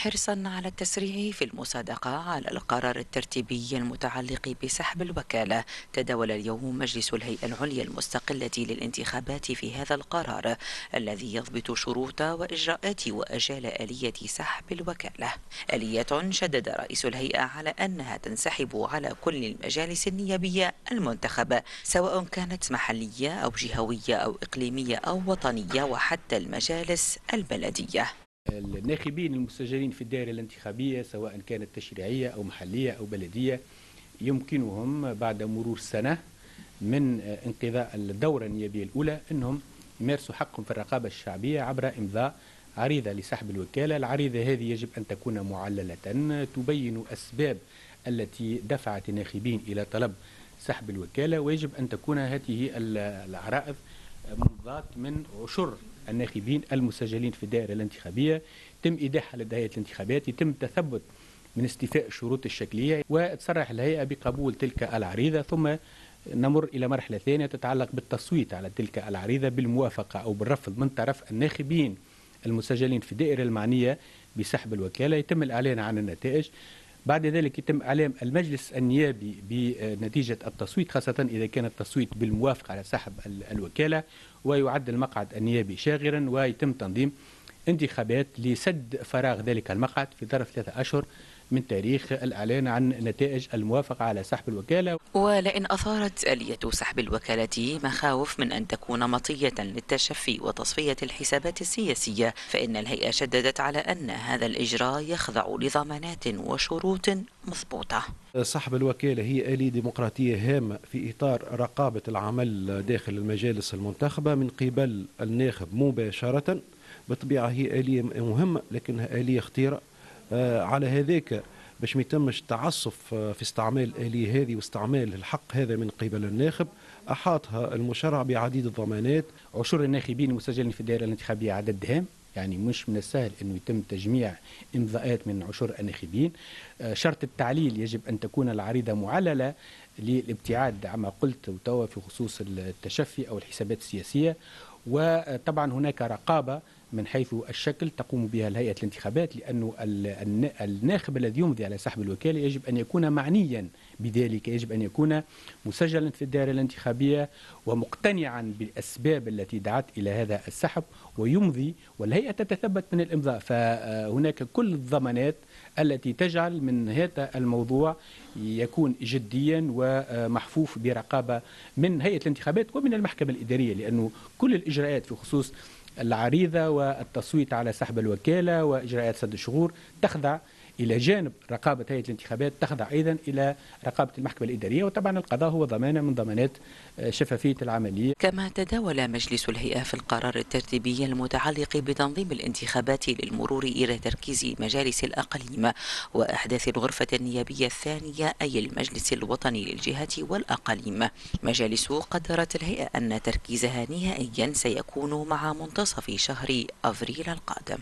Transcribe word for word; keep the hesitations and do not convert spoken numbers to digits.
وحرصا على التسريع في المصادقة على القرار الترتيبي المتعلق بسحب الوكالة، تداول اليوم مجلس الهيئة العليا المستقلة للانتخابات في هذا القرار الذي يضبط شروط وإجراءات وأجال آلية سحب الوكالة. آلية شدد رئيس الهيئة على أنها تنسحب على كل المجالس النيابية المنتخبة، سواء كانت محلية أو جهوية أو إقليمية أو وطنية، وحتى المجالس البلدية. الناخبين المسجلين في الدائرة الانتخابية سواء كانت تشريعية أو محلية أو بلدية يمكنهم بعد مرور سنة من انقضاء الدورة النيابية الأولى أنهم يمارسوا حقهم في الرقابة الشعبية عبر إمضاء عريضة لسحب الوكالة. العريضة هذه يجب أن تكون معللة تبين أسباب التي دفعت الناخبين إلى طلب سحب الوكالة، ويجب أن تكون هذه العرائض ممضاة من عشر الناخبين المسجلين في الدائرة الانتخابية، يتم إيداعها لدى هيئة الانتخابات، يتم التثبت من استيفاء الشروط الشكلية، وتصرح الهيئة بقبول تلك العريضة. ثم نمر إلى مرحلة ثانية تتعلق بالتصويت على تلك العريضة بالموافقة أو بالرفض من طرف الناخبين المسجلين في الدائرة المعنية بسحب الوكالة. يتم الإعلان عن النتائج، بعد ذلك يتم إعلام المجلس النيابي بنتيجة التصويت، خاصة إذا كان التصويت بالموافقة على سحب الوكالة، ويعد المقعد النيابي شاغرا، ويتم تنظيم انتخابات لسد فراغ ذلك المقعد في ظرف ثلاثة أشهر من تاريخ الإعلان عن نتائج الموافقة على سحب الوكالة. ولئن أثارت آلية سحب الوكالة مخاوف من أن تكون مطية للتشفي وتصفية الحسابات السياسية، فإن الهيئة شددت على أن هذا الإجراء يخضع لضمانات وشروط مضبوطة. سحب الوكالة هي آلية ديمقراطية هامة في إطار رقابة العمل داخل المجالس المنتخبة من قبل الناخب مباشرة. بالطبيعة هي آلية مهمة لكنها آلية خطيرة. على هذاك باش ما يتمش التعسف في استعمال الآلية هذه واستعمال الحق هذا من قبل الناخب، أحاطها المشرع بعديد الضمانات. عشر الناخبين المسجلين في الدائرة الانتخابية عدد هام، يعني مش من السهل أنه يتم تجميع إمضاءات من عشر الناخبين. شرط التعليل يجب أن تكون العريضة معللة للابتعاد عما قلت وتوا في خصوص التشفي أو الحسابات السياسية. وطبعا هناك رقابة من حيث الشكل تقوم بها الهيئة الانتخابات، لأنه الناخب الذي يمضي على سحب الوكالة يجب أن يكون معنيا بذلك، يجب أن يكون مسجلا في الدائرة الانتخابية ومقتنعا بالأسباب التي دعت إلى هذا السحب ويمضي، والهيئة تتثبت من الإمضاء. فهناك كل الضمانات التي تجعل من هذا الموضوع يكون جديا ومحفوف برقابة من هيئة الانتخابات ومن المحكمة الإدارية، لأنه كل الإجراءات في خصوص العريضة والتصويت على سحب الوكالة وإجراءات سد الشغور تخضع إلى جانب رقابة هيئة الانتخابات، تخضع أيضا إلى رقابة المحكمة الإدارية، وطبعا القضاء هو ضمانة من ضمانات شفافية العملية. كما تداول مجلس الهيئة في القرار الترتيبي المتعلق بتنظيم الانتخابات للمرور إلى تركيز مجالس الأقاليم وأحداث الغرفة النيابية الثانية أي المجلس الوطني للجهات والأقاليم. مجالس قدرت الهيئة أن تركيزها نهائيا سيكون مع منتصف شهر أفريل القادم.